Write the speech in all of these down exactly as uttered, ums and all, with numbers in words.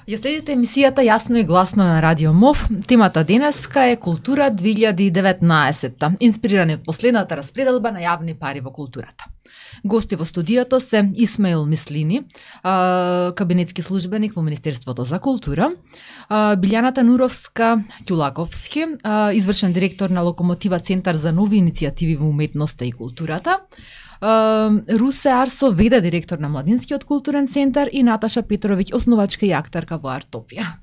Ја следите емисијата Јасно и гласно на Радио МОВ. Темата денеска е Култура две илјади и деветнаесетта, инспирирани од последната распределба на јавни пари во културата. Гости во студијато се Исмаил Мислини, кабинетски службеник во Министерството за култура, Билјана Тануровска Ќулаковски, извршен директор на Локомотива Центар за нови иницијативи во уметноста и културата, Русе Арсо, веде директор на Младинскиот културен центар, и Наташа Петровиќ, основачка и актарка во Артопија.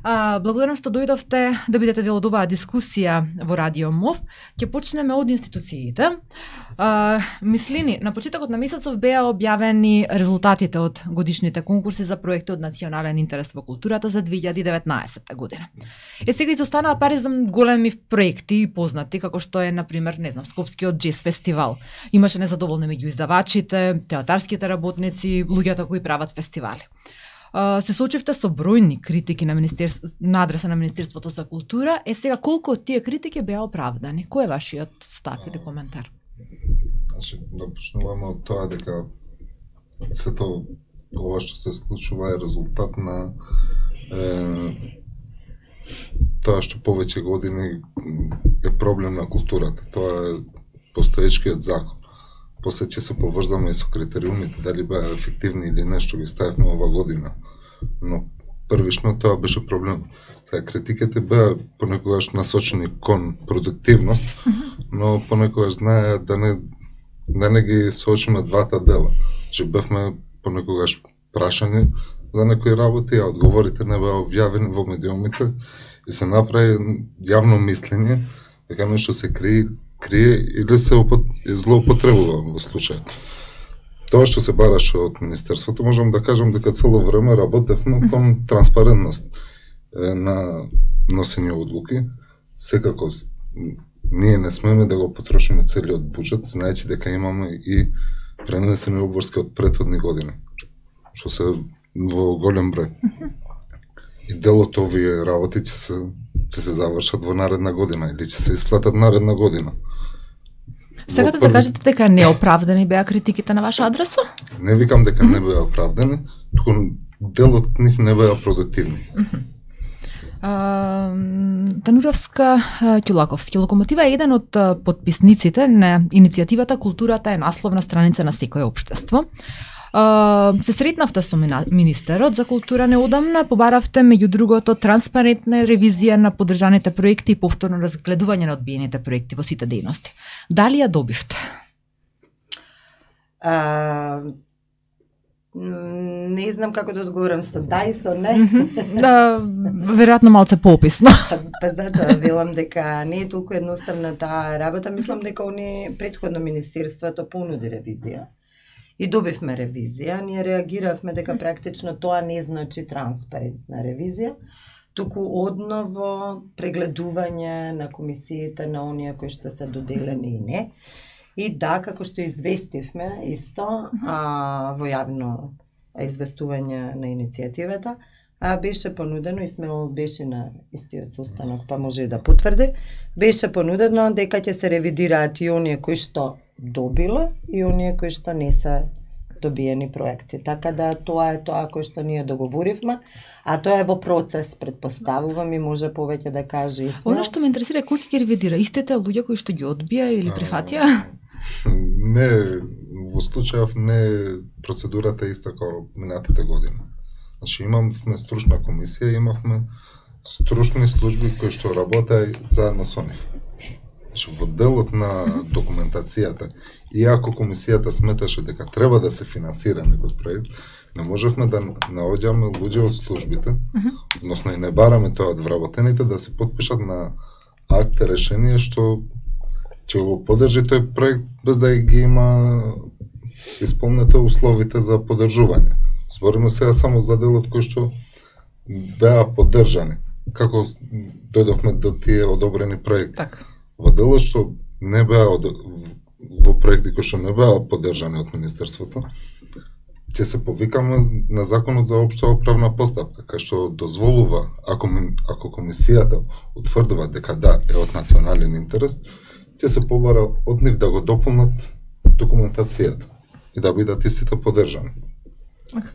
А, благодарам што дојдовте да бидете дел од оваа дискусија во Радио МОВ. Ќе почнеме од институциите. А, Мислини, на почетокот на месецов беа објавени резултатите од годишните конкурси за проекти од национален интерес во културата за две илјади и деветнаесетта година. Е, сега изостанаа пари за големи проекти и познати, како што е, например, не знам, Скопскиот джез фестивал. Имаше незадоволни меѓу издавачите, театарските работници, луѓето кои прават фестивали. Се соочивте со бројни критики на, на адреса на Министерството за култура. Е, сега, колку од тие критики беа оправдани? Кој е вашиот став или коментар? Значи, да почнуваме од тоа дека сето ова што се случува е резултат на е, тоа што повеќе години е проблем на културата. Тоа е постоечкиот закон. После ќе се поврзаме и со критериумите, дали беа ефективни или не, што ги ставивме ова година. Но првично тоа беше проблем. Сега, критиките беа понекогаш насочени кон продуктивност, но понекогаш знае да не, да не ги соочиме двата дела. Че бевме понекогаш прашани за некои работи, а одговорите не беа објавени во медиумите и се направи јавно мислење дека нешто се крие крие или се злоупотребува во случај. Тоа што се бараше од Министерството, можам да кажам дека цело време работевме кон транспарентност на носење одлуки. Секако ние не смеме да го потрошиме целиот буџет, знаејќи дека имаме и пренесени обврски од претходни години, што се во голем број. И дел од овие работи ќе се ќе се завршат во наредна година или ќе се исплатат наредна година. Сакате да кажете дека неоправдани беа критиките на ваша адреса? Не викам дека не беа оправдани, туку дел од нив не беа продуктивни. Uh, Тануровска Ќулаковски, Локомотива е еден од подписниците на иницијативата Културата е насловна страница на секое општество. Uh, се сретнавте со министерот за култура неодамна, побаравте меѓу другото транспарентна ревизија на поддржаните проекти и повторно разгледување на одбиените проекти во сите дејности. Дали ја добивте? Uh, не знам како да одговорам со да и со не. Да, веројатно малце поописно. Па затоа велам дека не е толку едноставна таа работа. Мислам дека они претходно министерството понуди ревизија. И добивме ревизија, ние реагиравме дека практично тоа не значи транспарентна ревизија, туку одново прегледување на комисиите на оние кои што се доделени и не. И да, како што известивме исто а, во јавно известување на иницијативата, а беше понудено, Исмаил беше на истиот состанок, па може и да потврди, беше понудено дека ќе се ревидираат и оние кои што добило и оние кои што не се добиени проекти. Така да тоа е тоа кој што ние договоривме, а тоа е во процес, предпоставувам, и може повеќе да каже Исмаил. Она што ме интересира е кој ќе ги ревидира, истите луѓе кои што ги одбија или прифатија? Не, во случајов не процедурата е иста како минатите години. Значи имавме стручна комисија, имавме стручни служби кои што работеа заедно со нив. Значи, во делот на документацијата, иако комисијата сметаше дека треба да се финансира некој проект, не можевме да наоѓаме луѓе од службите, односно и не бараме тоа од вработените да се потпишат на акт решение што ќе го поддржи тој проект без да ги има исполнете условите за поддржување. Збориме сега само за делот кој што беа поддржани. Како дојдовме до тие одобрени проекти? Так. Во делот што не беа од... во проекти кои што не беа поддржани од Министерството, ќе се повикаме на Законот за општа управна постапка, кај што дозволува, ако, ако комисијата утврдува дека да е од национален интерес, ќе се побара од нив да го дополнат документацијата и да бидат истите поддржани.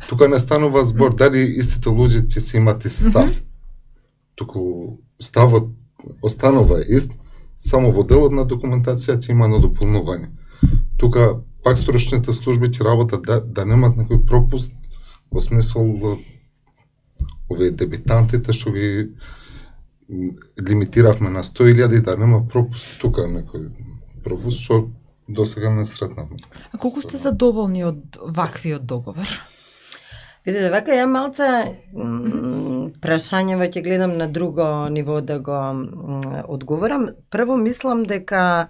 Тука не станува збор дали истите луѓе ќе се имат и став. Mm -hmm. Туку ставот останува ист, само во делот на документацијата има на дополнување. Тука пак стручните служби ќе работат да, да немат некој пропуст во смисол овие дебитантите што ви лимитиравме на сто илјади, да нема пропуст тука некој пропуст што досега не сретнавме. А колку сте задоволни од ваквиот договор? Видите, вака ја малца прашањево ќе гледам на друго ниво да го одговорам. Прво мислам дека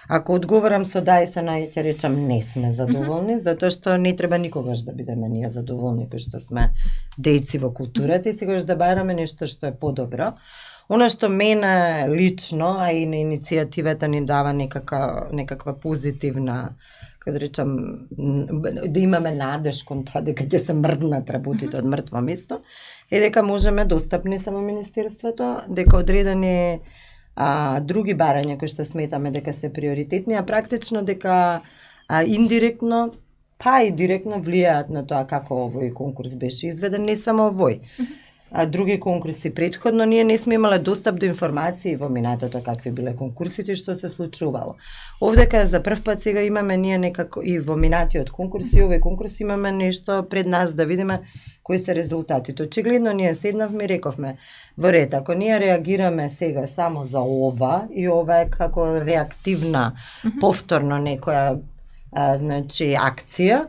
ако одговорам со да и со не, ќе речам не сме задоволни, затоа што не треба никогаш да бидеме ние задоволни, кои што сме дејци во културата и секогаш да бараме нешто што е подобро. Она што мене лично, а и на иницијативата ни дава некака, некаква позитивна, како да речам, да имаме надеж кон тоа дека ќе се мрднат работите од мртво место, е дека можеме достапни само Министерството, дека одредени а, други барања кои што сметаме дека се приоритетни, а практично дека а, индиректно, па и директно влијаат на тоа како овој конкурс беше изведен, не само овој. А други конкурси предходно, ние не сме имале достап до информации во минатото какви биле конкурсите и што се случувало. Овдека за прв пат сега имаме ние некако и во минатиот конкурс и овој конкурс имаме нешто пред нас да видиме кои се резултатите. Очигледно ние седнавме и рековме во ред, ако ние реагираме сега само за ова и ова е како реактивна повторно некоја а, значи акција,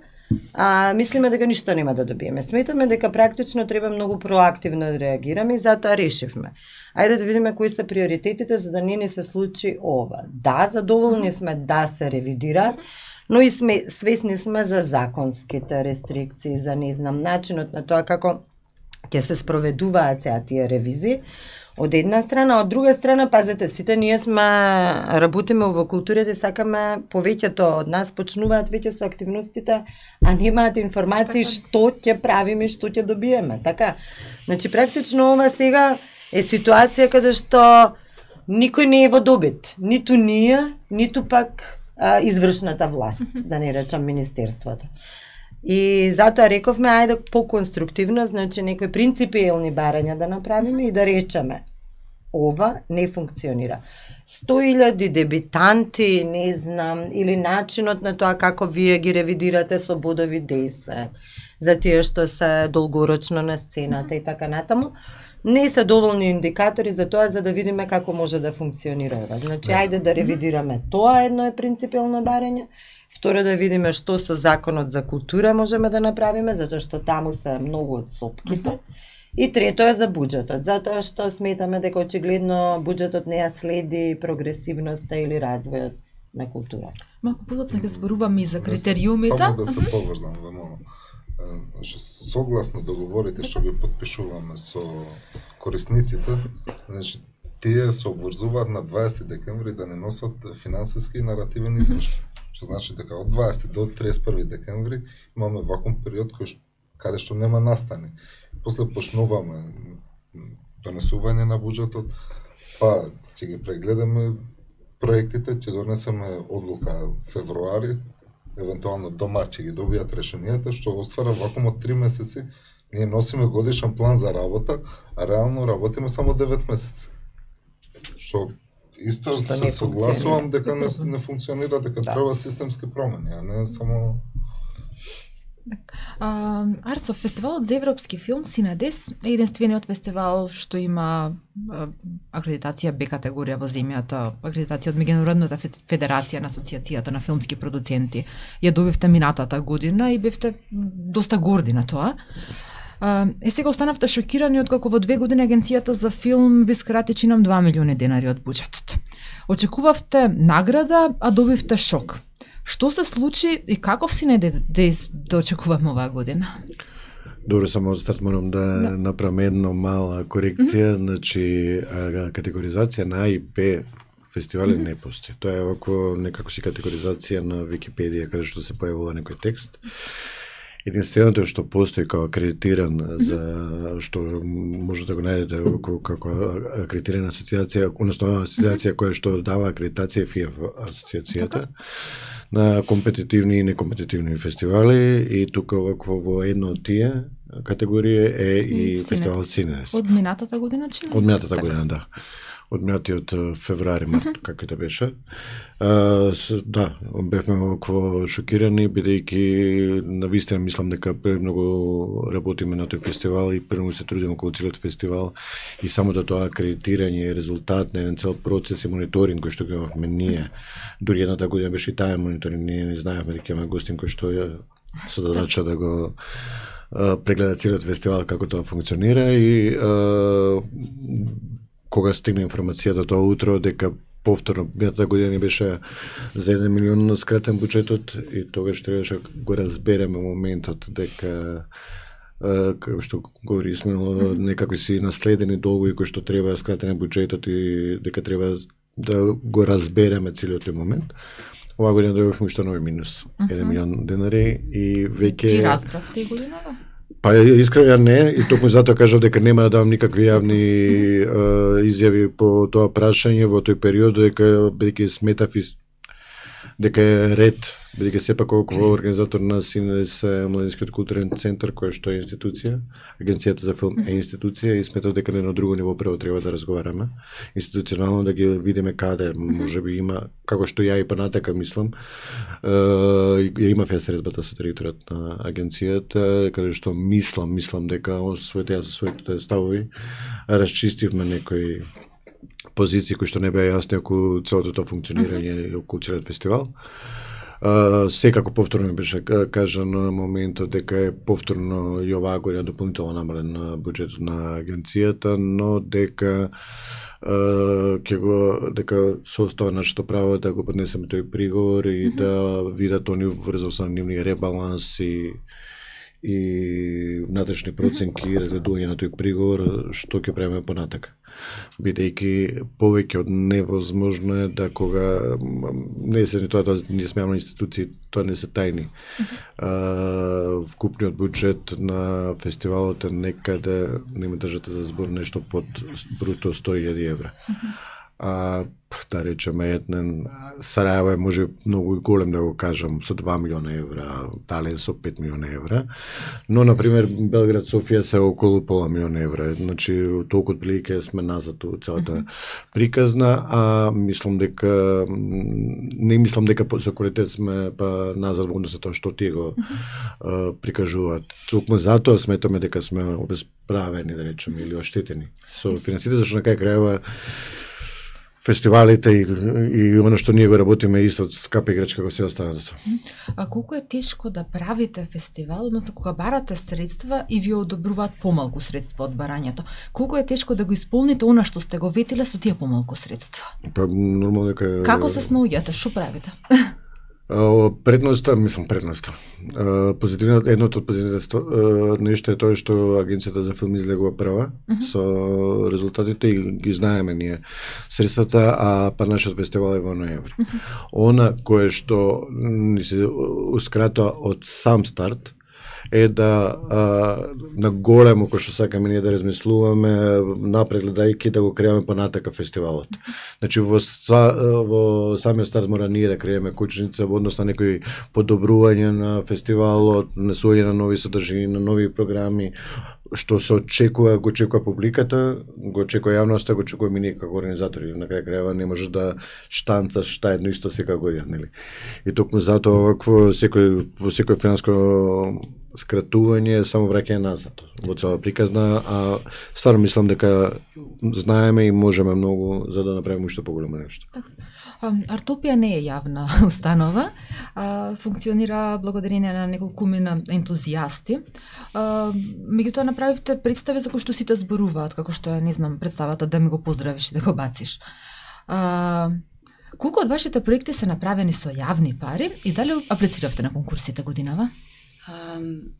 А, мислиме дека ништо нема да добиеме. Сметаме дека практично треба многу проактивно да реагираме и затоа решивме. Ајде да видиме кои се приоритетите за да не ни се случи ова. Да, задоволни сме да се ревидира, но и сме свесни сме за законските рестрикции, за не знам начинот на тоа како ќе се спроведуваат сега тие ревизии. Од една страна, од друга страна, пазете, сите ние сме работиме во културата и сакаме повеќето од нас почнуваат веќе со активностите, а немаат информации што ќе правиме, што ќе добиеме, така. Значи практично ова сега е ситуација каде што никој не е во добит, ниту ние, ниту пак а, извршната власт, да не речам Министерството. И затоа рековме, ајде по-конструктивно, значи некои принципиелни барања да направиме и да речеме ова не функционира. сто илјади дебитанти, не знам, или начинот на тоа како вие ги ревидирате со бодови десет, за тие што се долгорочно на сцената и така натаму, не се доволни индикатори за тоа за да видиме како може да функционира ова. Значи, ајде да ревидираме тоа, едно е принципиелно барање. Второ, да видиме што со законот за култура можеме да направиме, затоа што таму се многу од сопките. И трето е за буџетот, затоа што сметаме дека очигледно буџетот не ја следи прогресивноста или развојот на културата. Малку подоцна ќе зборуваме и за критериумите. Само да се поврзам во мало. Што согласно договорите што ги потпишуваме со корисниците, значи тие се обврзуваат на дваесети декември да не носат финансиски и наративен извештај. Што значи дека од дваесети до триесет и први декември имаме вакуум период кој каде што нема настани. После почнуваме донесување на буџетот, па ќе ги прегледаме проектите, ќе донесеме одлука февруари, евентуално до март ќе ги добијат решенијата, што оствара вакуумот три месеци. Ние носиме годишен план за работа, а реално работиме само девет месеци. Што исто што се согласувам дека не, не функционира, дека да. Треба системски промени, а не само... А, Арсо, фестивалот за европски филм Синедес е единствениот фестивал што има а, акредитација Б категорија во земјата, акредитација од Меѓународната федерација на асоциацијата на филмски продуценти. Ја добивте минатата година и бевте доста горди на тоа. А, е сега останавте шокирани откако во две години агенцијата за филм ви скрати чинам два милиони денари од буџетот. Очекувавте награда, а добивте шок. Што се случи и каков Синедес да очекуваме оваа година? Добро, само за старт морам да, да. направам една мала корекција, mm -hmm. значи категоризација на А и Б фестивали mm -hmm. не постои. Тоа е око некако си категоризација на Википедија каде што се појавува некој текст. единственото што постои како акредитиран за што може да го најдете како акредитирана асоциација, односно асоциација која што дава акредитација ФИА асоциацијата на компетитивни и некомпетитивни фестивали, и тука вакво во една од тие категорија е и фестивал Синес. Од минатата година, чи? Од минатата година, да. Од минатиот февруари, март, како да беше. А, с, да, бевме вакво шокирани, бидејќи навистина мислам дека многу работиме на тој фестивал и премногу се трудиме околу целиот фестивал, и самото тоа акредитирање е резултат на еден цел процес и мониторинг кој што го имавме ние. Дури едната година беше и таа мониторинг, ние не знаевме дека имаме гостин кој што е со задача да го прегледа целиот фестивал како тоа функционира, и а, кога стигна информацијата тоа утро дека повторно минатата година ни беше за еден милион скратен буџетот, и тогаш требаше го разбереме моментот дека како што говори Исмаил, некакви си наследени долгови кои што треба скратен буџетот и дека треба да го разбереме целиот тој момент. Оваа година дојдовме уште нови минус, еден милион денари, и веќе Ти разбравте и годината? Па искрено не, и токму затоа кажав дека нема да давам никакви јавни е, изјави по тоа прашање во тој период, дека бидејќи сметав и дека е ред, бидејќи сепак колку организатор на Синес Младинскиот културен центар, кој што е институција, Агенцијата за филм е институција, и сметав дека на едно друго ниво прво треба да разговараме институционално, да ги видиме каде можеби има, како што ја и понатака мислам, ја имав ја средбата со директорот на агенцијата, каде што мислам, мислам дека освоите ја со своите ставови расчистивме некои позиции кои што не беа јасни околу целото тоа функционирање и околу целиот фестивал. Uh, секако повторно беше кажано на моментот дека е повторно и оваа година дополнително намален на буџетот на агенцијата, но дека uh, ќе го дека се остава нашето право да го поднесеме тој приговор и mm -hmm. да видат они врзо со нивни ребаланс и и внатрешни проценки и разгледување на тој приговор, што ќе правиме понатака. Бидејќи повеќе од невозможно е да кога не се тоа, тоа ние сме јавни институции, тоа не се тајни. Uh, вкупниот буџет на фестивалот е некаде, нема држате за збор, нешто под бруто сто илјади евра. А, да речеме, еден Сараево е може многу голем, да го кажам, со два милиона евра, Тален со пет милиона евра, но, например, Белград, Софија се околу пола милиона евра, значи толку отприлike сме назад у целата mm -hmm. приказна, а мислам дека, не мислам дека со квалитет сме па назад во однос на тоа што тие го mm -hmm. прикажуваат. Токму затоа сметаме дека сме обесправени, да речеме, или оштетени со финансите, зашто на крај крајава фестивалите и, и оно што ние го работиме исто скапа играчка како се останато. А колку е тешко да правите фестивал, односно кога барате средства и ви одобруваат помалку средства од барањето? Колку е тешко да го исполните она што сте го ветиле со тие помалку средства? Па нормално дека Како се снаоѓате? Што правите? Предноста, мислам предноста. Позитивната, едното од позитивните нешто е тоа што Агенцијата за филм излегува прва uh -huh. со резултатите и ги знаеме ние средствата, а па нашиот фестивал е во ноември. Uh -huh. Она кое што ни се ускратува од сам старт е да а, на големо, кој што сакаме ние да размислуваме, напред гледајќи да го креаме понатака фестивалот. Значи во, са, во самиот старт мора ние да креаме кучница во однос на некои подобрување на фестивалот, несување на нови содржини, на нови програми, што се очекува, го очекува публиката, го очекува јавноста, го очекува ние како организатори. На крај крајава не можеш да штанцаш шта едно исто секоја година, нели? И токму затоа вакво секој во секој финанско скратување само враќање назад во цела приказна, а стварно мислам дека знаеме и можеме многу за да направиме уште поголемо нешто. Артопија не е јавна установа, функционира благодарение на неколкумина ентузијасти. Меѓутоа направивте представи за кои што сите зборуваат, како што е, не знам, представата да ми го поздравиш и да го бациш. Колку од вашите проекти се направени со јавни пари и дали аплициравте на конкурсите годинава? Um,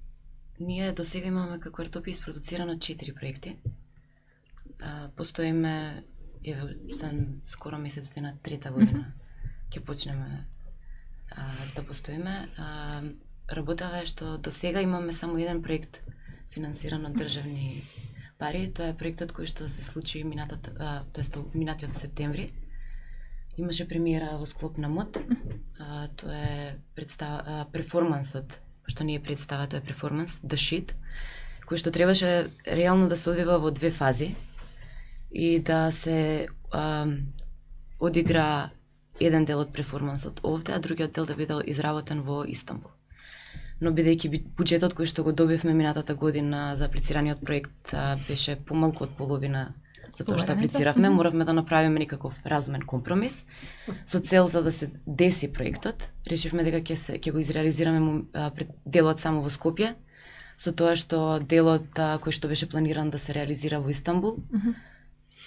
ние до сега имаме како Артопија испродуцирано четири проекти. Uh, постоиме еве за скоро месец дена трета година. Ќе mm -hmm. почнеме uh, да постоиме. Uh, работава е што до сега имаме само еден проект финансиран од државни пари. Тоа е проектот кој што се случи минатата, тоест минатиот септември. Имаше премиера во склоп на МОД. А, тоа е представа, перформансот, што не е представа, тоа е перформанс, The Shit, кој што требаше реално да се одвива во две фази и да се а, одигра еден дел од перформансот овде, а другиот дел да биде изработен во Истанбул. Но бидејќи буџетот кој што го добивме минатата година за аплицираниот проект а, беше помалку од половина за тоа што аплициравме, моравме да направиме некаков разумен компромис со цел за да се деси проектот. Решивме дека ќе се ќе го изреализираме а, делот само во Скопје, со тоа што делот а, кој што беше планиран да се реализира во Истанбул,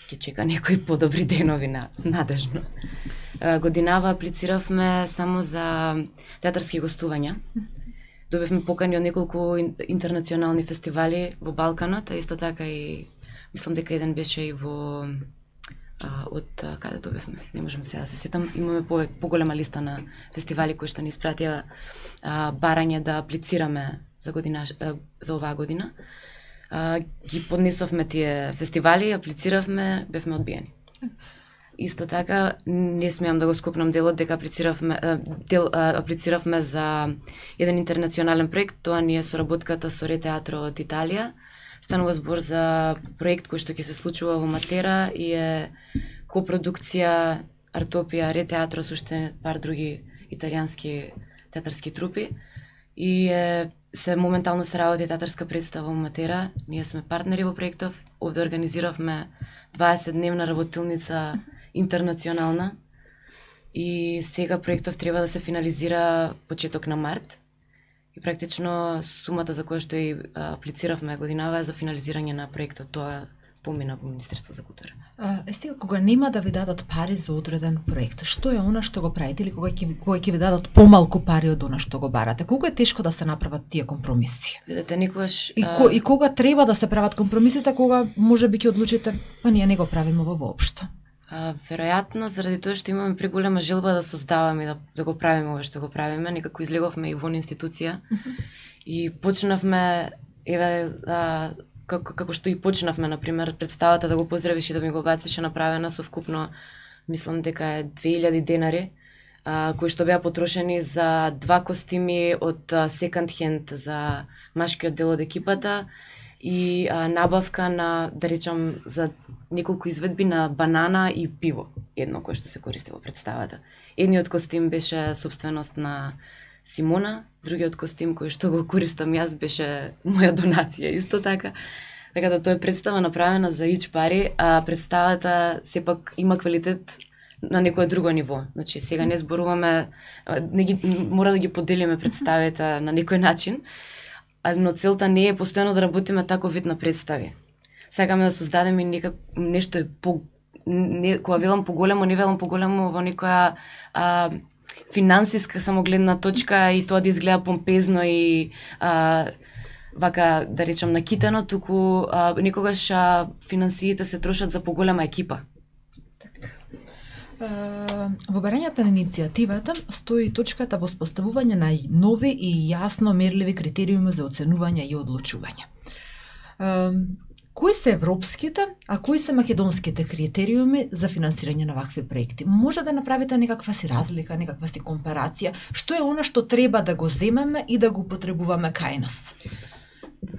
ќе чека некои подобри денови на надежно. А, годинава аплициравме само за театарски гостувања. Добивме покани од неколку интернационални фестивали во Балканот, а исто така и мислам дека еден беше и во а, од а, каде добивме, не можам сега да се сетам, имаме по, поголема листа на фестивали кои што ни испратија а, барање да аплицираме за година а, за оваа година. А, ги поднесовме тие фестивали, аплициравме, бевме одбиени. Исто така, не смеам да го скокнам делот дека аплициравме, дел, аплициравме за еден интернационален проект, тоа ни е соработката со Ре Театро од Италија. Станува збор за проект кој што ќе се случува во Матера и е копродукција Артопија, Ре Театро со уште пар други италијански театарски трупи. И е, се моментално се работи театарска представа во Матера. Ние сме партнери во проектов. Овде организиравме дваесетдневна работилница интернационална и сега проектов треба да се финализира почеток на март. И практично сумата за која што и аплициравме годинава е за финализирање на проектот. Тоа помина во Министерство за култура. А, е сега кога нема да ви дадат пари за одреден проект, што е она што го правите или кога ќе кога ќе ви дадат помалку пари од она што го барате? Колку е тешко да се направат тие компромиси? Видете, никогаш И, ко, и кога треба да се прават компромисите, кога можеби ќе одлучите, па ние не го правиме во воопшто? А, веројатно, заради тоа што имаме преголема желба да создаваме и да, да го правиме ова што го правиме, некако излеговме и вон институција uh -huh. и почнавме, еве, а, како, како што и почнавме, например, представата да го поздравиш и да ми го бациш е направена со вкупно, мислам дека е две илјади денари, а, кои што беа потрошени за два костими од second hand за машкиот дел од екипата и а, набавка на, да речам, за неколку изведби на банана и пиво, едно кое што се користи во представата. Едниот костим беше собственост на Симона, другиот костим кој што го користам јас беше моја донација исто така. Така да тоа е представа направена за ич пари, а представата сепак има квалитет на некое друго ниво. Значи сега не зборуваме, не ги, мора да ги поделиме представите на некој начин, но целта не е постојано да работиме тако вид на представи. Сакаме да создадеме некак нешто е по не, кога велам поголемо, не велам поголемо во некоја а, финансиска самогледна точка и тоа да изгледа помпезно и а, вака да речам накитено, туку а, некогаш а, финансиите се трошат за поголема екипа. Во барањата на иницијативата стои точката во споставување на нови и јасно мерливи критериуми за оценување и одлучување. Кои се европските, а кои се македонските критериуми за финансирање на вакви проекти? Може да направите некаква си разлика, некаква си компарација? Што е она што треба да го земеме и да го потребуваме кај нас?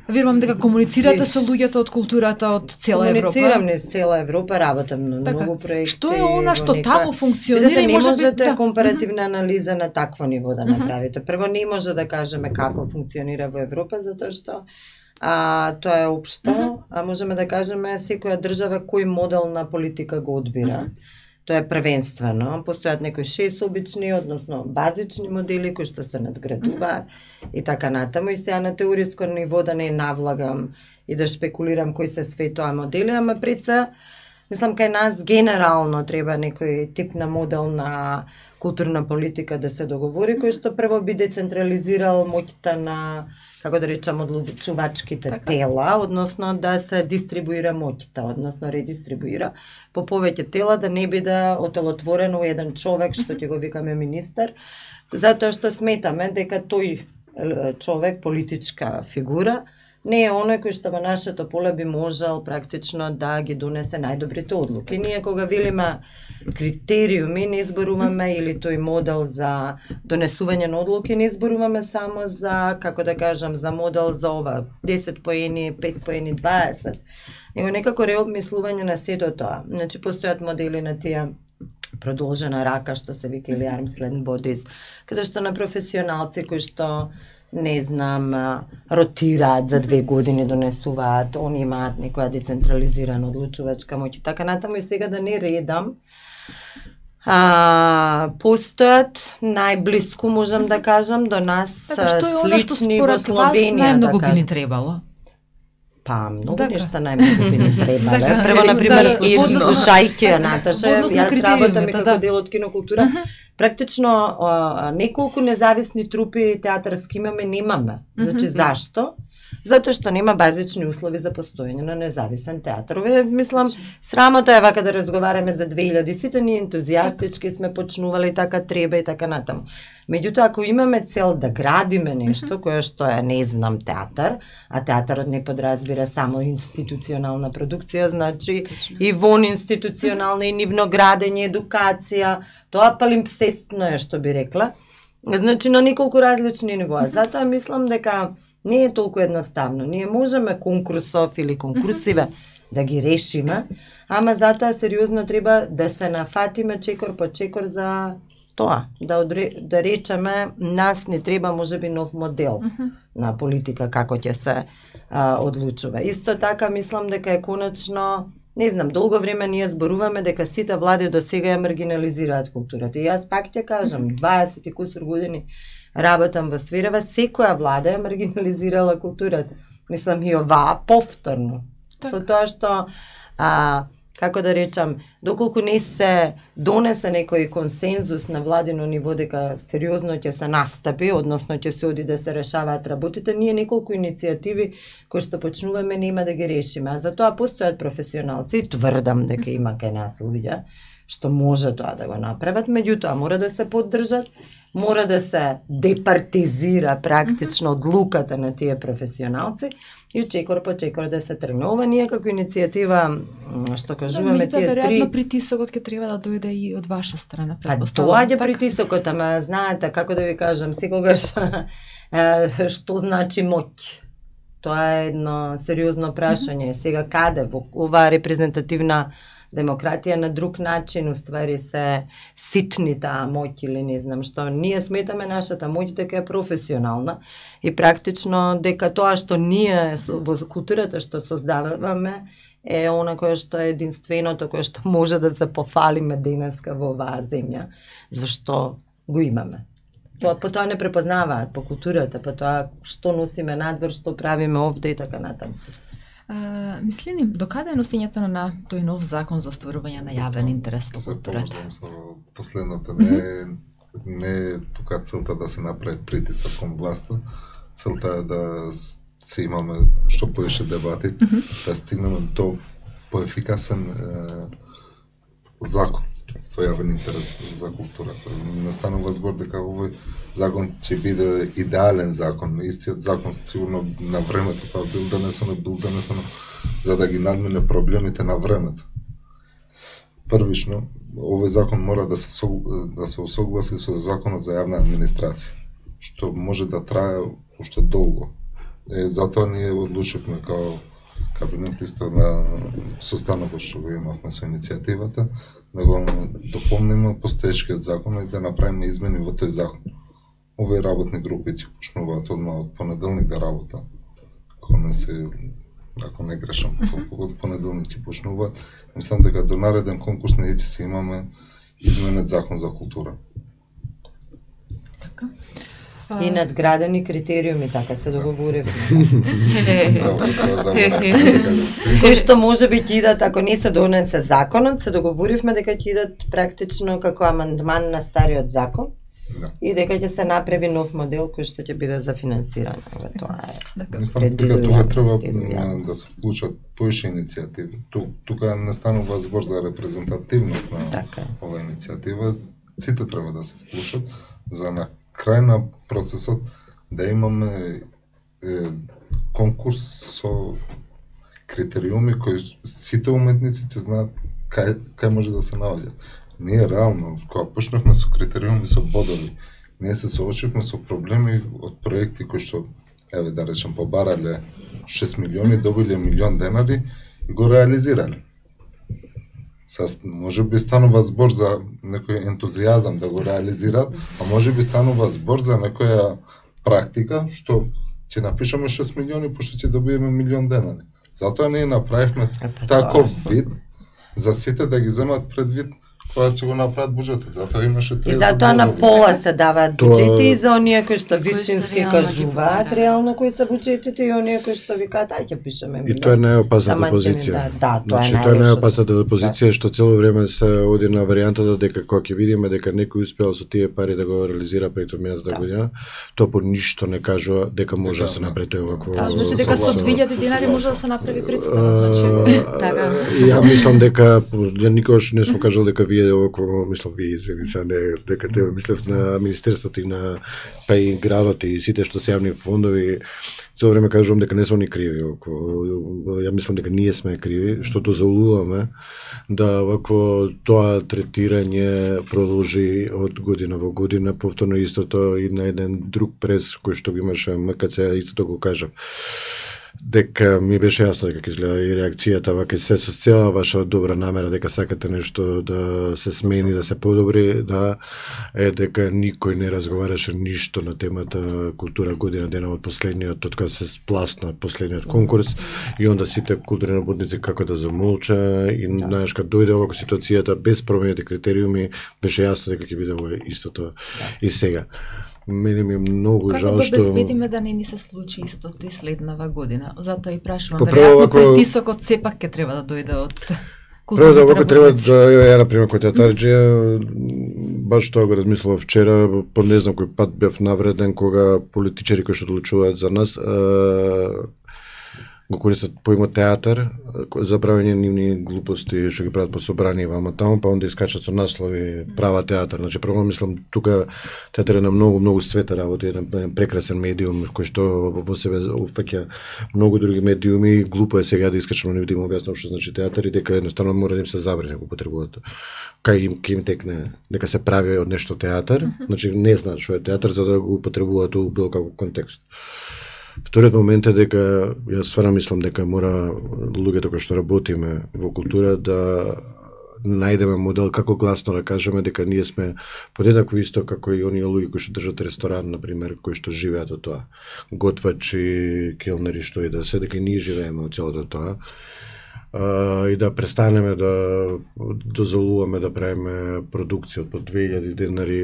Верувам дека комуницирате со луѓето од културата од цела Европа. Комуницирам не цела Европа, работам на така, многу проекти. Што е она што нека... таму функционира и може не можете да... компаративна анализа на такво ниво да направите. Прво не може да кажеме како функционира во Европа, затоа што а, тоа е општо, а можеме да кажеме секоја држава кој модел на политика го одбира. Тоа е првенствено. Постојат некои шест обични, односно базични модели кои што се надградуваат и така натаму. И сега на теориско ниво да не навлагам и да шпекулирам кои се светоа модели, ама пред се, мислам, кај нас генерално треба некој тип на модел на културна политика да се договори, кој што прво би децентрализирал моќта на, како да речам, одлучувачките така. Тела, односно да се дистрибуира моќта, односно редистрибуира по повеќе тела, да не биде отелотворено еден човек, што ќе го викаме министер, затоа што сметаме дека тој човек, политичка фигура, не е оној кој што во нашето поле би можел практично да ги донесе најдобрите одлуки. Ние кога велиме критериуми, не изборуваме или тој модел за донесување на одлуки, не изборуваме само за, како да кажам, за модел за ова, десет поени, пет поени, дваесет, него некако реобмислување на сето тоа. Значи, постојат модели на тие продолжена рака, што се вика, или arm's length bodies, каде што на професионалци кои што не знам, ротираат за две години, донесуваат, они имаат некоја децентрализирана одлучувачка моќ и така натаму, и сега да не редам. А, постојат најблиску, можам да кажам, до нас така, што е она што слични во според вас Словенија, најмногу да би ни кажам. требало? Па, многу Така. нешта најмногу би ни требале. Така, Прво, да, например, да, и односно- слушајќи ја, така, Наташа, во однос на јас работам и критериумите, како да. дел од кинокултура. Практично, а, неколку независни трупи театарски имаме, немаме. Значи, Мгм. зашто? Затоа што нема базични услови за постоење на независен театар. Ове, мислам, срамота е вака да разговараме за две илјади, сите ние ентузијастички сме почнували, така треба и така натаму. Меѓутоа, ако имаме цел да градиме нешто, кое што е, не знам, театар, а театарот не подразбира само институционална продукција, значи и вон институционална, и нивно градење, едукација, тоа палимпсестно е, што би рекла. Значи, на неколку различни нивоа. Затоа мислам дека не е толку едноставно. Ние можеме конкурсов или конкурсиве да ги решиме, ама затоа сериозно треба да се нафатиме чекор по чекор за тоа, да, одре, да речеме, нас не треба можеби нов модел на политика како ќе се а, одлучува. Исто така мислам дека е конечно, не знам, долго време ние зборуваме дека сите влади до сега ја маргинализираат културата. И јас пак ќе кажам, дваесет и кусур години работам во сферава, секоја влада ја маргинализирала културата. Мислам и оваа повторно. Така. Со тоа што, а, како да речам, доколку не се донесе некој консензус на владино ниво дека сериозно ќе се настапи, односно ќе се оди да се решаваат работите, ние неколку иницијативи кои што почнуваме нема да ги решиме. А за тоа постојат професионалци и тврдам дека има кај нас луѓе што може тоа да го направат, меѓутоа мора да се поддржат, мора да се департизира практично одлуката на тие професионалци и чекор по чекор да се тргне. Ова ние како иницијатива, м, што кажуваме, Меѓутоа, тие веројатно три... притисокот ќе треба да дојде и од ваша страна, Па претпоставувам. доаѓа Така? притисокот, ама знаете, како да ви кажам, секогаш е, што значи моќ? Тоа е едно сериозно прашање. Сега каде во оваа репрезентативна демократија на друг начин уствари се ситни таа моќ или не знам што. Ние сметаме нашата моќ дека е професионална и практично дека тоа што ние со- во културата што создаваме е она кое што е единственото кое што може да се пофалиме денеска во оваа земја, зашто го имаме. Тоа по тоа не препознаваат по културата, по тоа што носиме надвор, што правиме овде и така натаму. А, мислини, докаде е носењето на тој нов закон за остварување на јавен интерес во Се културата? поврзам со последната. Не е, не е тука целта да се направи притисок кон власта. Целта е да с- се имаме што повеќе дебати, да стигнеме до поефикасен е, закон во јавен интерес за културата. Не станува збор дека овој закон ќе биде идеален закон. Истиот закон сигурно на времето кога бил донесен, бил донесен за да ги надмине проблемите на времето. Првично, овој закон мора да се сог- да се усогласи со законот за јавна администрација, што може да трае уште долго. Е, затоа ние одлучивме као кабинет исто на состанокот што го имавме со иницијативата, да го дополниме постоечкиот закон и да направиме измени во тој закон. Овие работни групи ќе почнуваат одма од понеделник да работа. Ако не се ако не грешам, толку од понеделник ќе почнуваат. Мислам дека до нареден конкурс не ќе се имаме изменет закон за култура. Така. И надградени критериуми, така се договоривме. Браво, тоа заборав. Кои што може би ќе идат, ако не се донесе законот, се договоривме дека ќе идат практично како амандман на стариот закон Да. и дека ќе се направи нов модел кој што ќе биде за финансирање. Еве, тоа е. Така. Мислам дека Предвидува тука треба јавност и м, јавност. да се вклучат поише иницијативи. Ту, тука не станува збор за репрезентативност на Така е. оваа иницијатива. Сите треба да се вклучат за на крај на процесот да имаме е, конкурс со критериуми кои сите уметници ќе знаат кај кај може да се наоѓат. Ние реално кога почнавме со критериуми со бодови, ние се соочивме со проблеми од проекти кои што еве да речем побарале шест милиони, добиле милион денари и го реализирале. Сас, може би станува збор за некој ентузијазам да го реализираат, а може би станува збор за некоја практика што ќе напишеме шест милиони пошто ќе добиеме милион денари. Затоа ние направивме таков вид за сите да ги земат предвид кога ќе го направат буџетот. Затоа имаше триесет. И затоа на пола се даваат буџети и за оние кои што вистински кажуваат реално кои се буџетите и оние кои што викаат ај ќе пишеме милион. И тоа е најопасната позиција. Да, тоа е значи, тоа е најопасната позиција што цело време се оди на варијантата дека кога ќе видиме дека некој успеал со тие пари да го реализира преку минатата година, тоа по ништо не кажува дека може да се направи тоа вакво. Да, значи дека со две илјади динари може да се направи представа, значи така. Ја мислам дека ја никогаш не сум кажал дека вие овако, мислам вие извини се, не дека те мислев на министерството и на па и градот и сите што се јавни фондови, цело време кажувам дека не се они криви. Ја мислам дека ние сме криви што дозволуваме да вакво тоа третирање продолжи од година во година, повторно истото и на еден друг прес кој што го имаше М К Ц, истото го кажав. Дека ми беше јасно дека ќе изгледа и реакцијата вака се со цела ваша добра намера дека сакате нешто да се смени, да се подобри, да е дека никој не разговараше ништо на темата култура година дена од последниот, од кога се спласна последниот конкурс и онда сите културни работници како да замолча и да. Знаеш кога дојде овако ситуацијата без променети критериуми беше јасно дека ќе биде ова истото да. И сега. Мене ми е многу како жал да што... Како да безбедиме да не ни се случи истото и следнава година? Затоа и прашувам, Па, веројатно ако... притисокот сепак ќе треба да дојде од културните работници. Прво да треба да, ја например кој театарџија, баш тоа го размислував вчера, по не знам кој пат бев навреден кога политичари кои што одлучуваат за нас, а... го користат поимот театар за правење нивни глупости што ги прават по собрани вама таму, па онда искачат со наслови права театар. Значи прво мислам тука театар е на многу многу света работа, еден прекрасен медиум кој што во себе опфаќа многу други медиуми. Глупо е сега да искачам на нивите им објаснам што значи театар и дека едноставно мора да им се забрани го потребуваат. Кај им ке им текне дека се прави од нешто театар, значи не знаат што е театар за да го употребуваат во било каков контекст. Вториот момент е дека јас стварно мислам дека мора луѓето кои што работиме во култура да најдеме модел како гласно да кажеме дека ние сме подеднакво исто како и оние луѓе кои што држат ресторан, например, кои што живеат од тоа. Готвачи, келнери, што и да се, дека и ние живееме од целото тоа. Uh, и да престанеме да дозволуваме да правиме продукција од по две илјади денари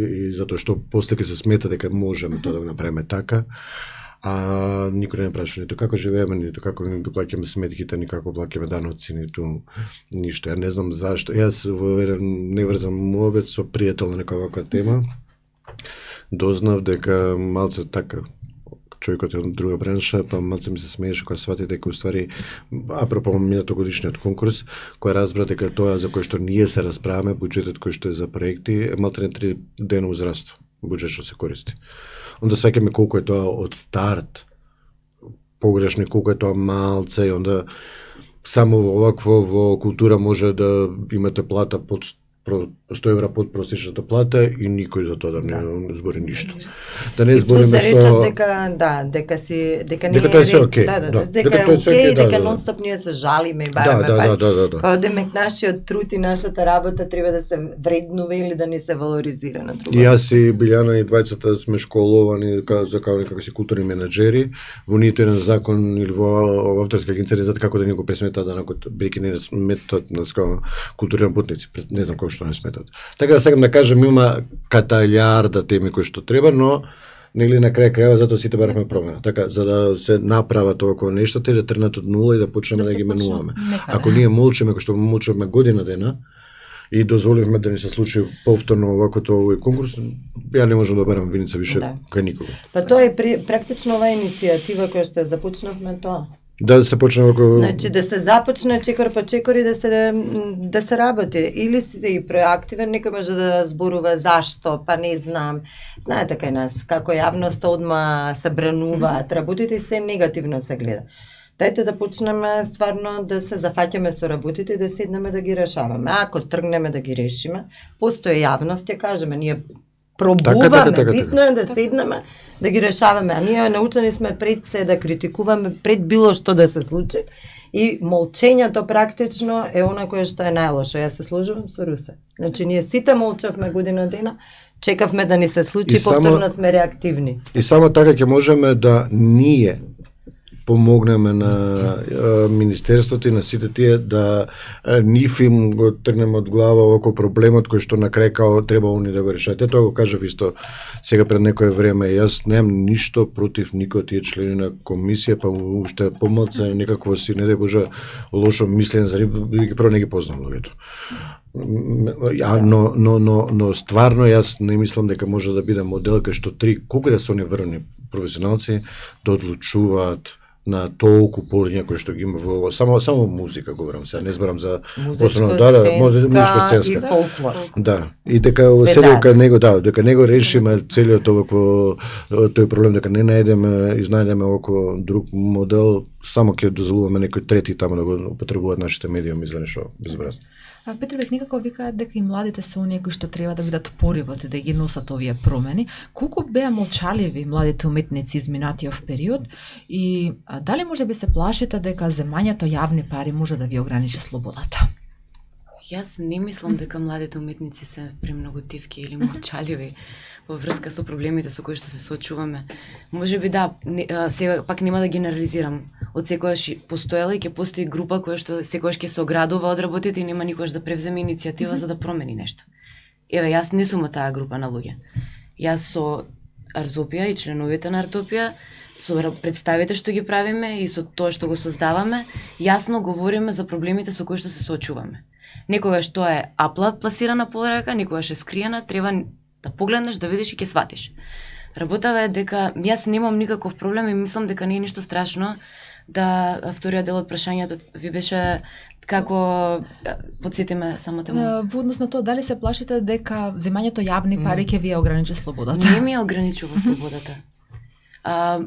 и затоа што после ќе се смета дека можеме тоа да го направиме така. А никој не праша ниту како живееме, ниту како ги плаќаме сметките, ни како плаќаме даноци, ниту ништо. Ја не знам зашто. Јас во еден неврзан мовет со пријател на некоја ваква тема дознав дека малце така човекот е од друга бранша, па малце ми се смееше кога свати дека уствари апропо минатогодишниот конкурс, кој разбра дека тоа за кој што ние се расправаме, буџетот кој што е за проекти, е малте не три дена узраство, буџет што се користи. Онда сваќаме колку е тоа од старт погрешно, колку е тоа малце и онда само во овакво во култура може да имате плата под сто евра под просечната плата и никој за тоа да не да. збори ништо. Да не збориме што да дека да, дека си дека не дека тоа е се окей. Да, да, да, дека, дека е окей, да, дека да, нонстоп ние се жалиме и бараме да, да, да, да, да. Па демек нашиот труд и нашата работа треба да се вреднува или да не се валоризира на друго. И јас и Билјана и двајцата сме школовани за како некако си културни менаџери, во ниту еден закон или во авторска агенција за како да ни го пресмета данокот, бидејќи не сметат на културни работници, не знам кој што не сметат. Така да сакам да кажам, има каталјарда теми кои што треба, но нели на крај крајава затоа сите баравме промена. Така за да се направат овакво нешто, да тренат од нула и да почнеме да, да ги менуваме. Ако ние молчиме, кој што молчиме година дена и дозволивме да ни се случи повторно оваквото овој конкурс, ја не можам да барам виница више да. кај никого. Па тоа е при, практично оваа иницијатива која што ја започнавме тоа. Да се почне ако... Значи да се започне чекор по чекор и да се да се работи. Или си и проактивен, некој може да зборува зашто, па не знам. Знаете кај нас како јавноста одма се брануваат, работите и се негативно се гледа. Дајте да почнеме стварно да се зафаќаме со работите и да седнеме да ги решаваме. Ако тргнеме да ги решиме, постои јавност, ќе кажеме, ние пробуваме, така, така, така, битно е да седнеме, да ги решаваме, а ние научени сме пред се да критикуваме, пред било што да се случи, и молчењето практично е она кое што е најлошо. Јас се сложувам со Русе. Значи, ние сите молчавме година дена, чекавме да ни се случи, и повторно само, сме реактивни. И само така ќе можеме да ние помогнеме на е, Министерството и на сите тие да е, нив им го тргнеме од глава околу проблемот кој што на крај као треба они да го решат. Ето го кажав исто сега пред некое време. Јас немам ништо против никој од тие члени на комисија, па уште помалце некакво си, не дај Боже, лошо мислење за нив, прво не ги познам луѓето. Ja, но, но, но, но стварно јас не мислам дека може да биде модел кај што три, колку да се они врвни професионалци да одлучуваат на толку полиња кои што ги има во само само музика говорам сега, не зборам за основно да, да, музичка сценска и фолклор. Да, и дека се дека него да, дека него решиме целиот овакво тој проблем, дека не најдеме, изнајдеме околу друг модел, само ќе дозволуваме некој трети таму да го употребуваат нашите медиуми за нешто безвредно. Петр Бек некако викаат дека и младите се оние кои што треба да бидат поривот и да ги носат овие промени. Колку беа молчаливи младите уметници изминатиот период и а, дали може би се плашите дека земањето јавни пари може да ви ограничи слободата? Јас не мислам дека младите уметници се премногу тивки или молчаливи во врска со проблемите со кои што се соочуваме. Може би да, не, се пак нема да генерализирам. Од секојаш постоела и ќе постои група која што секојаш ќе се оградува од работите и нема никогаш да превземе иницијатива за да промени нешто. Еве, јас не сум од таа група на луѓе. Јас со Артопија и членовите на Артопија, со представите што ги правиме и со тоа што го создаваме, јасно говориме за проблемите со кои што се соочуваме. Некогаш тоа е апла пласирана порака, некогаш е скриена, треба да погледнеш, да видиш и ќе сватиш. Работава е дека јас немам никаков проблем и мислам дека не е ништо страшно да вториот дел од прашањето ви беше како потсетиме само тема. Во однос на тоа, дали се плашите дека земањето јавни пари ќе ви ограничи слободата? Не ми ограничува слободата. А,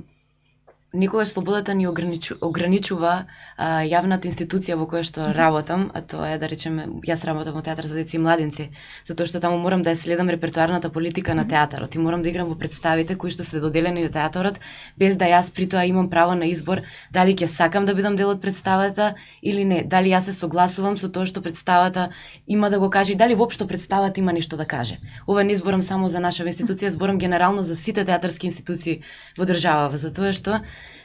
никогаш слободата ни ограничу, ограничува а, јавната институција во која што работам, а тоа е, да речеме, јас работам во театар за деца и младинци, затоа што таму морам да ја следам репертоарната политика на театарот и морам да играм во представите кои што се доделени на театарот, без да јас при тоа имам право на избор дали ќе сакам да бидам дел од представата или не, дали јас се согласувам со тоа што представата има да го каже и дали воопшто представата има нешто да каже. Ова не зборам само за нашава институција, зборам генерално за сите театарски институции во државава, затоа што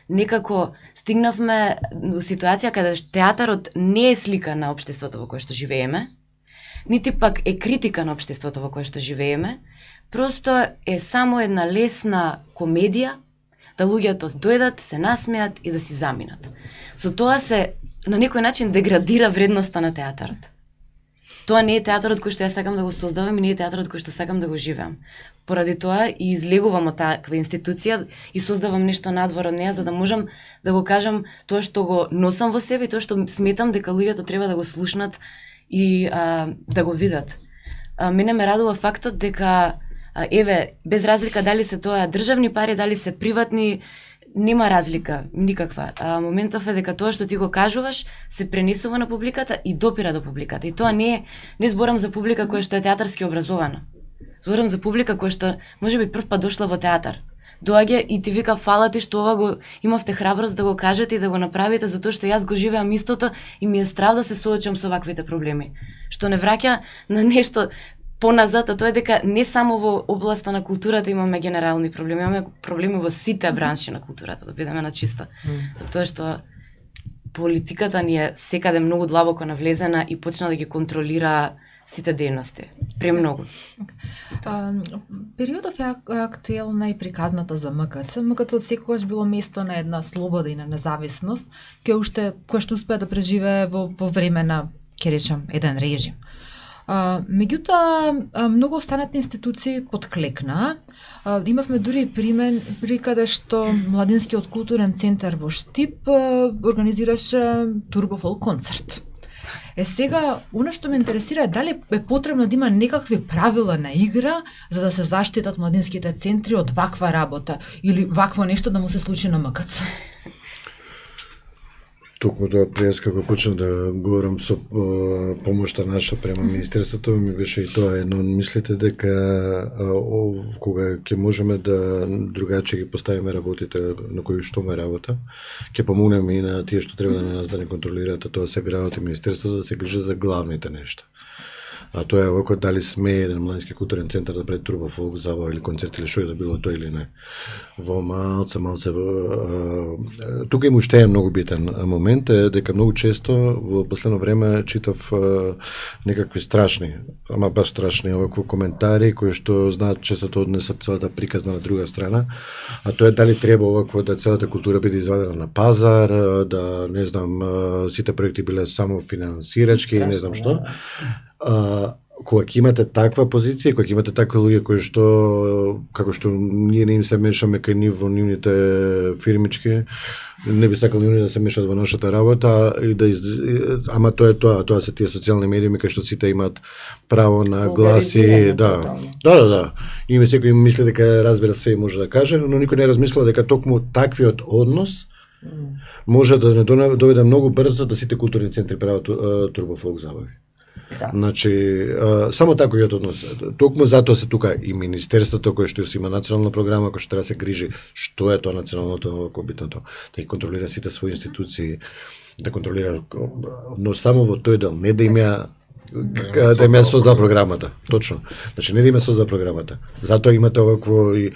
некако стигнавме во ситуација каде театарот не е слика на општеството во кое што живееме, нити пак е критика на општеството во кое што живееме, просто е само една лесна комедија да луѓето дојдат, се насмеат и да си заминат. Со тоа се на некој начин деградира вредноста на театарот. Тоа не е театарот кој што ја сакам да го создавам и не е театарот кој што сакам да го живеам. Поради тоа и излегувам од таква институција и создавам нешто надвор од неа за да можам да го кажам тоа што го носам во себе и тоа што сметам дека луѓето треба да го слушнат и а, да го видат. А, мене ме радува фактот дека а, еве без разлика дали се тоа државни пари, дали се приватни, нема разлика никаква. А, моментов е дека тоа што ти го кажуваш се пренесува на публиката и допира до публиката. И тоа не е, не зборам за публика која што е театарски образована. Зборам за публика која што можеби прв пат дошла во театар. Доаѓа и ти вика фала ти што ова го имавте храброст да го кажете и да го направите затоа што јас го живеам истото и ми е страв да се соочам со ваквите проблеми. Што не враќа на нешто поназад, а тоа е дека не само во областа на културата имаме генерални проблеми, имаме проблеми во сите бранши на културата, да бидеме на чисто. Mm. Тоа што политиката ни е секаде многу длабоко навлезена и почна да ги контролира сите дејности. Премногу. Okay. Периодов е актуелна и приказната за МКЦ. МКЦ од секогаш било место на една слобода и на независност, кој уште кој што успеа да преживее во, во време на, ќе речам, еден режим. А, меѓутоа, а, многу останати институции подклекнаа. А, имавме дури пример при каде што Младинскиот културен центар во Штип а, организираше турбофолк концерт. Е сега, она што ме интересира е дали е потребно да има некакви правила на игра за да се заштитат младинските центри од ваква работа или вакво нешто да му се случи на МКЦ. Токму тоа пред како почнав да говорам со о, помошта наша према министерството, ми беше и тоа едно. Мислите дека о, кога ќе можеме да другаче ги поставиме работите на кои што ме работа, ќе помогнеме и на тие што треба да нас да не контролираат, а тоа се работи министерството да се грижи за главните нешта. А тоа е овако дали сме еден младински културен центар да прави турбофолк забава или концерт или што е да било тоа или не. Во малце, малце... Тука има уште е многу битен момент, е дека многу често во последно време читав некакви страшни, ама баш страшни овакво коментари кои што знаат често да однесат целата приказна на друга страна, а тоа е дали треба овакво да целата култура биде извадена на пазар, да не знам сите проекти биле само финансирачки, не знам што. А, кога ќе имате таква позиција, кога ќе имате такви луѓе кои што како што ние не им се мешаме кај нив во нивните фирмички, не би сакал нив да се мешат во нашата работа и да из... ама тоа е тоа, тоа се тие социјални медии кај што сите имаат право на гласи, да. Да, да, да. И ми секој мисли дека разбира све и може да каже, но никој не размислува дека токму таквиот однос може да не доведе многу брзо да сите културни центри прават турбофолк забави. Да. Значи, а, само така ја однос. Токму затоа се тука и министерството кое што има национална програма кој што треба да се грижи што е тоа националното кобитното, да ги контролира сите своји институции, да контролира, но само во тој дел, не да има да има создава програмата, точно. Значи не да има создава програмата. Затоа имате овакво и,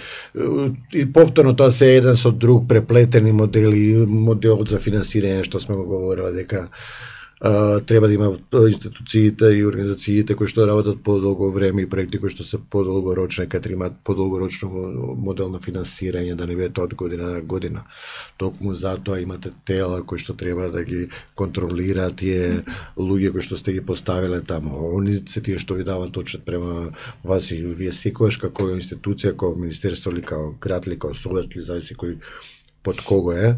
и повторно тоа се еден со друг преплетени модели, модел за финансирање што сме го говореле дека Uh, треба да има институциите и организациите кои што работат подолго време и проекти кои што се подолгорочни, кај имаат подолгорочно модел на финансирање, да не биде тоа од година на година. Токму затоа имате тела кои што треба да ги контролираат тие луѓе кои што сте ги поставиле таму. Они се тие што ви даваат отчет према вас и вие секогаш како институција, како министерство или како град или како совет или зависи кој под кого е,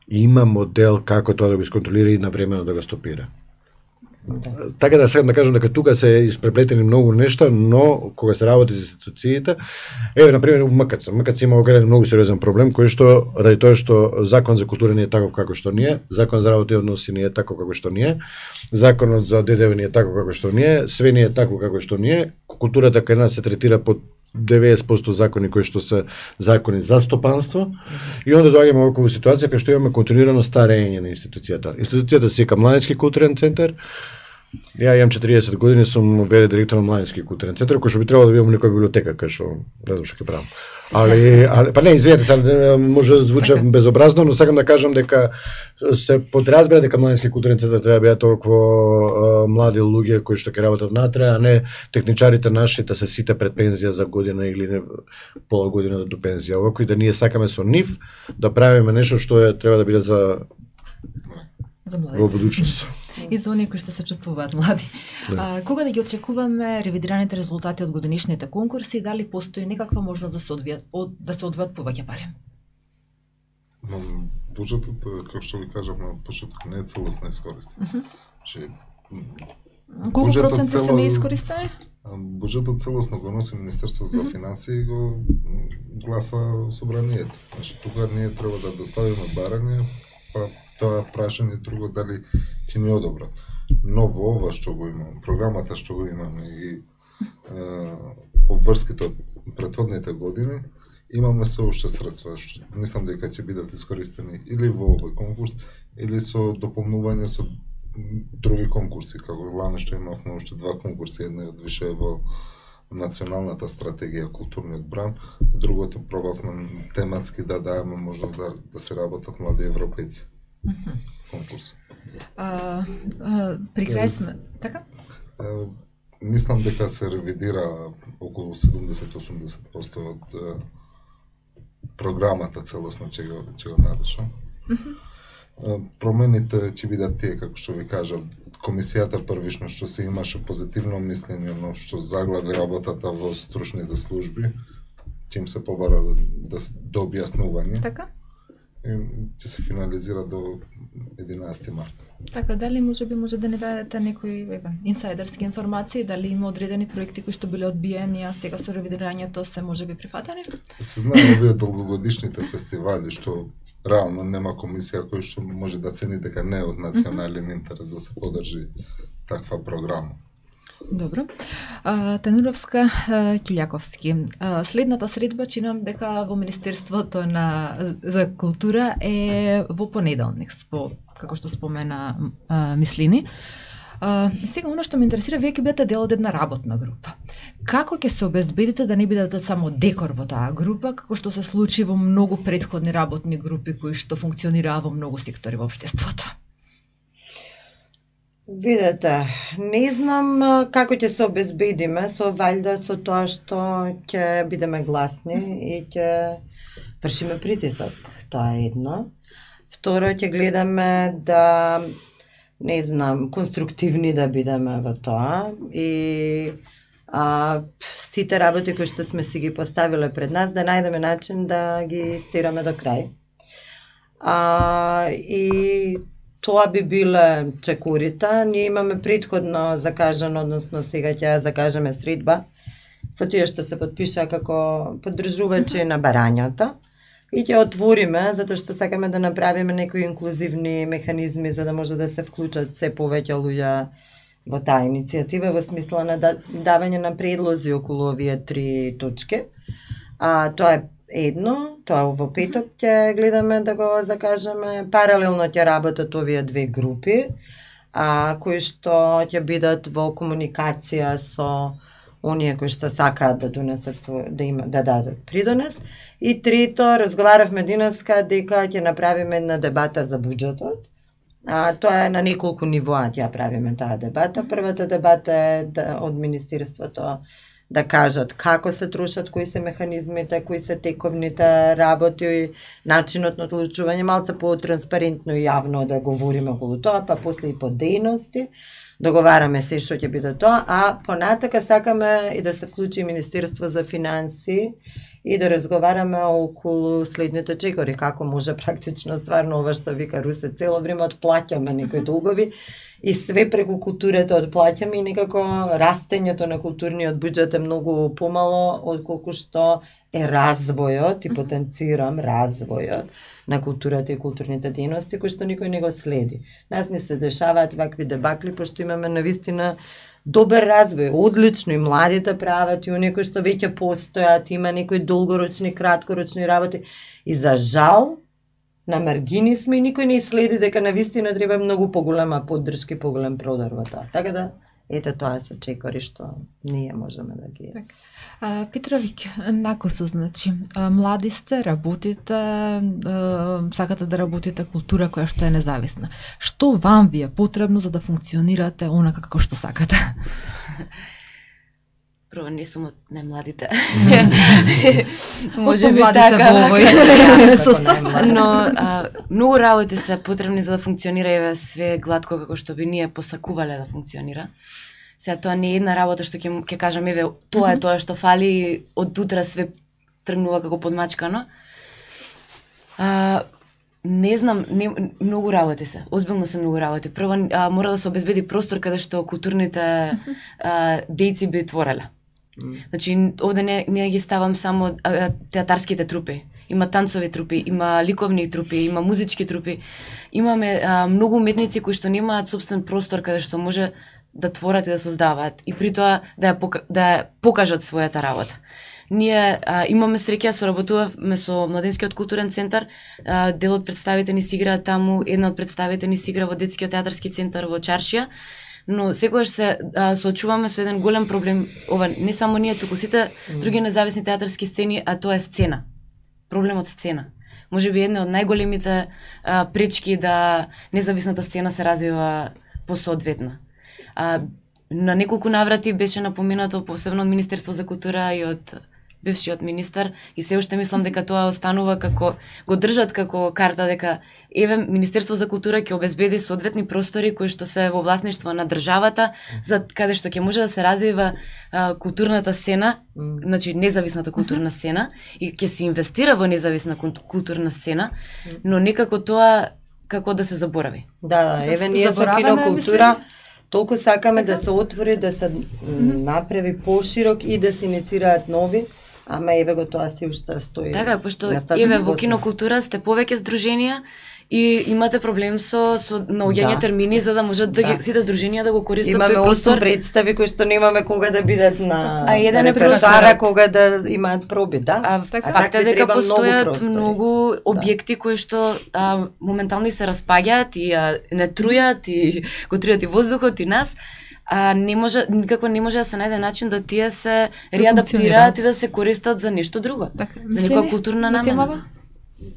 има модел како тоа да го исконтролира и навремено да го стопира. Да. Така да сакам да кажам дека тука се испреплетени многу нешта, но кога се работи за институциите, еве на пример МКЦ, МКЦ има огромен многу сериозен проблем кој што ради тоа што закон за култура не е таков како што ние, закон за работи и односи не е таков како што ние, законот за ДДВ не е таков како што ние, све не е такво како што ние, културата кај нас се третира под деветдесет проценти закони кои што се закони за стопанство и онда доаѓаме во оваква ситуација кај што имаме континуирано старење на институцијата. Институцијата се вика Младински културен центар. Ја имам четириесет години, сум ве директор на Младински културен центар, кој што би требало да бидам некоја библиотека кај што не знам што ќе правам. Али, али па не, извинете, може да звучи безобразно, но сакам да кажам дека се подразбира дека Младински културен центар треба да бидат толку млади луѓе кои што ќе работат натре, а не техничарите наши да се сите пред пензија за година или не, пола година до пензија. Овако и да ние сакаме со нив да правиме нешто што е треба да биде за за младите. Во будучност. И за оние кои што се чувствуваат млади. Да. А, кога да ги очекуваме ревидираните резултати од годинишните конкурси и дали постои некаква можност да се одвијат од да се одвојат повеќе пари? Но буџетот, како што ви кажав на почеток, не е целосно искористен. Uh -huh. Колку проценти се не искористени? Буџетот целосно го носи Министерството за финансии и го гласа собранието. Значи тука ние треба да доставиме барање, па тоа прашање друго дали ќе ни одобрат. Но во ова што го имам, програмата што го имаме и е, обврските од претходните години, имаме се уште средства што мислам дека ќе бидат искористени или во овој конкурс или со дополнување со други конкурси, како лане што имавме уште два конкурси, едниот више во националната стратегија културниот бран, другото пробавме тематски да даваме можност да, да се работат млади европејци. Конкурс. А, а, при крај сме, така? А, мислам дека се ревидира околу седумдесет до осумдесет проценти од а, програмата целосна ќе го ќе го напишам. промените ќе бидат тие, како што ви кажав. Комисијата првично што се имаше позитивно мислење, но што заглави работата во стручните служби, ќе им се побара да се до објаснување. Така? И ќе се финализира до единаесети март. Така, дали може би може да не дадете некои инсайдерски информации, дали има одредени проекти кои што биле одбиени, а сега со ревидирањето се може би прифатени? Се знае овие долгогодишните фестивали што реално нема комисија која што може да цени дека не е од национален интерес да се подржи таква програма. Добро. А, Тануровска, Ќулјаковски. А, следната средба чинам дека во Министерството на за култура е во понеделник, спо, како што спомена а, Мислини. А, сега, оно што ме интересира, вие ќе бидете дел од една работна група. Како ќе се обезбедите да не бидете само декор во таа група, како што се случи во многу претходни работни групи кои што функционираа во многу сектори во општеството? Видете, не знам како ќе се обезбедиме, со валјда со тоа што ќе бидеме гласни и ќе вршиме притисок. Тоа е едно. Второ, ќе гледаме да, не знам, конструктивни да бидеме во тоа и а, сите работи кои што сме си ги поставиле пред нас, да најдеме начин да ги стираме до крај. А, и тоа би биле чекорите. Ние имаме претходно закажано, односно сега ќе ја закажеме средба со тие што се подпиша како поддржувачи на барањата и ќе отвориме, затоа што сакаме да направиме некои инклузивни механизми за да може да се вклучат се повеќе луѓе во таа иницијатива во смисла на давање на предлози околу овие три точки. А, тоа е едно, тоа во петок ќе гледаме да го закажеме. Паралелно ќе работат овие две групи, а, кои што ќе бидат во комуникација со оние кои што сакаат да донесат свој, да има да дадат придонес. И трето, разговаравме денеска дека ќе направиме една дебата за буџетот. А, тоа е на неколку нивоа ќе ја правиме таа дебата. Првата дебата е да, од Министерството да кажат како се трошат, кои се механизмите, кои се тековните работи, начинот на одлучување, малце по-транспарентно и јавно да говориме околу тоа, па после и по дејности. Договараме се што ќе биде тоа, а понатака сакаме и да се вклучи Министерство за финансии и да разговараме околу следните чекори, како може практично стварно ова што вика Русе, цело време отплаќаме некои долгови и све преку културата отплаќаме и некако растењето на културниот буџет е многу помало отколку што е развојот и потенцирам развојот на културата и културните дејности кои што никој не го следи. Нас не се дешаваат вакви дебакли пошто имаме навистина добар развој, одлично и младите прават и оние кои што веќе постојат, има некои долгорочни, краткорочни работи и за жал на маргини сме и никој не следи дека навистина треба многу поголема поддршка и поголем продар во тоа. Така да, ете тоа се чекори што ние можеме да ги... А, Петровик, накосо, значи, а, млади сте, работите, а, сакате да работите култура која што е независна. Што вам ви е потребно за да функционирате онака како што сакате? Прво, не сум од најмладите. Може би така. Во овој состав. Но а, многу работи се потребни за да функционира еве све гладко како што би ние посакувале да функционира. Сега тоа не е една работа што ќе ќе кажам еве тоа е тоа што фали и од утре све тргнува како подмачкано. А, не знам, не, многу работи се. Озбилно се многу работи. Прво а, мора да се обезбеди простор каде што културните а, дејци би твореле. Значи овде не не ги ставам само а, театарските трупи. Има танцови трупи, има ликовни трупи, има музички трупи. Имаме а, многу уметници кои што немаат собствен простор каде што може да творат и да создаваат и при тоа да ја, да ја покажат својата работа. Ние а, имаме среќа, соработувавме со Младенскиот културен центар, а, дел од представите ни си играат таму, една од представите ни си игра во Детскиот театарски центар во Чаршија, но секогаш се а, соочуваме со еден голем проблем, ова не само ние, туку сите други независни театарски сцени, а тоа е сцена. Проблемот сцена. Може би една од најголемите а, пречки да независната сцена се развива посоодветно. А, на неколку наврати беше напоменато, посебно од Министерство за култура и од бившиот министар и се уште мислам дека тоа останува како го држат како карта дека еве Министерство за култура ќе обезбеди соодветни простори кои што се во власништво на државата за каде што ќе може да се развива а, културната сцена, mm. значи независната културна сцена и ќе се инвестира во независна културна сцена, но некако тоа како да се заборави. Да, да, еве ние со кинокултура толку сакаме да се отвори, да се направи поширок и да се иницираат нови, ама еве го тоа си уште стои. Така, пошто еве во кинокултура сте повеќе здруженија и имате проблем со со наоѓање да. термини за да можат да, да. Ги, сите здруженија да го користат имаме тој простор. Имаме представи кои што немаме кога да бидат на а еден е репертоара кога да имаат проби, да. А, а факт е дека постојат многу, многу објекти да. кои што а, моментално и се распаѓаат и а, не трујат и го трујат и воздухот и нас. А не може никако не може да се најде начин да тие се реадаптираат и да се користат за нешто друго. Так, за некоја културна намена.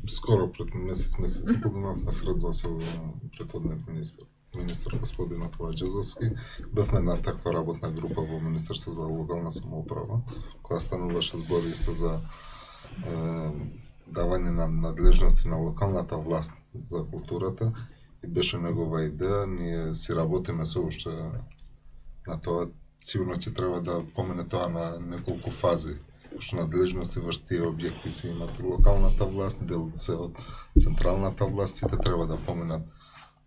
Скоро пред месец месец и половина средува се претhodниот министер, министер господин Атила Џезовски. Бевме на таква работна група во Министерство за локална самоуправа, која стануваше збор исто за е, давање на надлежности на локалната власт за културата и беше негова идеја. Ние си работиме се уште на тоа. Сигурно ќе треба да помене тоа на неколку фази. Пошто надлежности врз тие објекти се имат локалната власт, дел се од централната власт, сите треба да поменат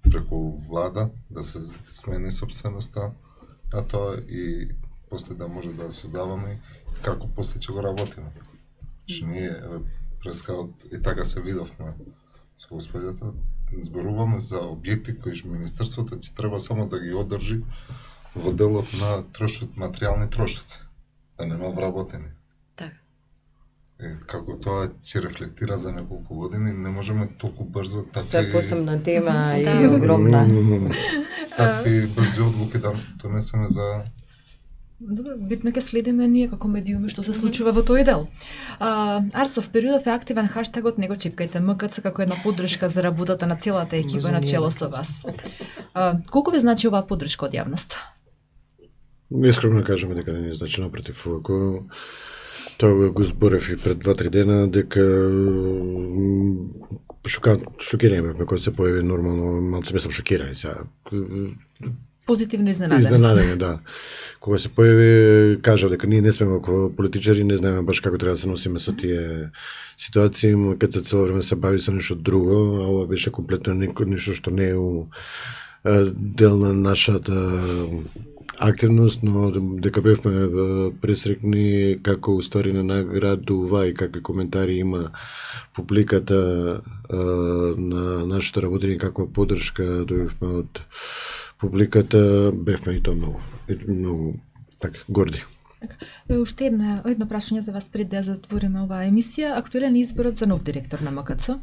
преку влада, да се смени собственоста на тоа и после да може да создаваме како после ќе го работиме. Што ние прескаот и така се видовме со господјата, зборуваме за објекти кои што министерството ќе треба само да ги одржи во делот на трошот, материјални трошоци, да нема вработени. Е, како тоа ќе рефлектира за неколку години, не можеме толку брзо такви... Тоа е посебна тема и огромна. Такви брзи одлуки да донесеме за... Добро, битно ќе следиме ние како медиуми што се случува во тој дел. А, Арсов, периодов е активен хаштагот "Не го чипкајте М К Ц" како една поддршка за работата на целата екипа на чело со вас. А, колку ви значи оваа поддршка од јавноста? Искрено кажеме дека не ни значи, напротив, ако тоа го зборев и пред два-три дена дека шокираме кога се појави нормално, малце мислам шокирани сега. Позитивно изненадени. Изненадени, да. Кога се појави, кажав дека ние не сме како политичари, не знаеме баш како треба да се носиме со тие ситуации, кога се цело време се бави со нешто друго, а ова беше комплетно нешто што не е у дел на нашата активност, но дека бевме пресрекни како уствари на наградува и какви коментари има публиката на нашето работење, каква поддршка добивме од публиката, бевме и тоа многу, многу така горди. Уште една, едно прашање за вас пред да затвориме оваа емисија. Актуелен изборот за нов директор на М К Ц.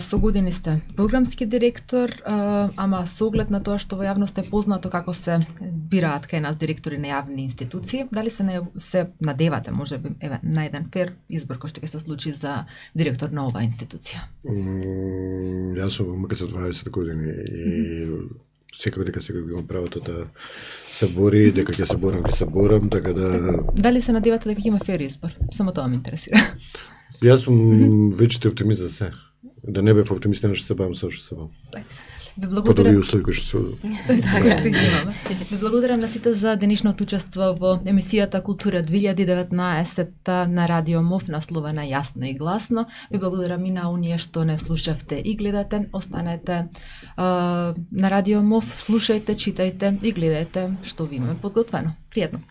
Со години сте програмски директор, ама со оглед на тоа што во јавноста е познато како се бираат кај нас директори на јавни институции, дали се не, се надевате можеби еве на еден фер избор кој што ќе се случи за директор на оваа институција? Mm, јас сум во М К Ц дваесет години и секој дека секој имам правото да се бори, дека ќе се борам, ќе се борам, така да... Дали се надевате дека ќе има фер избор? Само тоа ме интересира. Јас сум вечите оптимист за се. Да не бев оптимист, не што се бавам со што се бавам. Ви благодарам. Подови услови кои што се... Така што ги имаме. Ви благодарам на сите за денешното учество во емисијата Култура две илјади и деветнаесет на Радио МОВ, насловена Јасно и гласно. Ви благодарам и на оние што не слушавте и гледате. Останете uh, на Радио МОВ, слушајте, читајте и гледајте што ви имаме подготвено. Пријатно.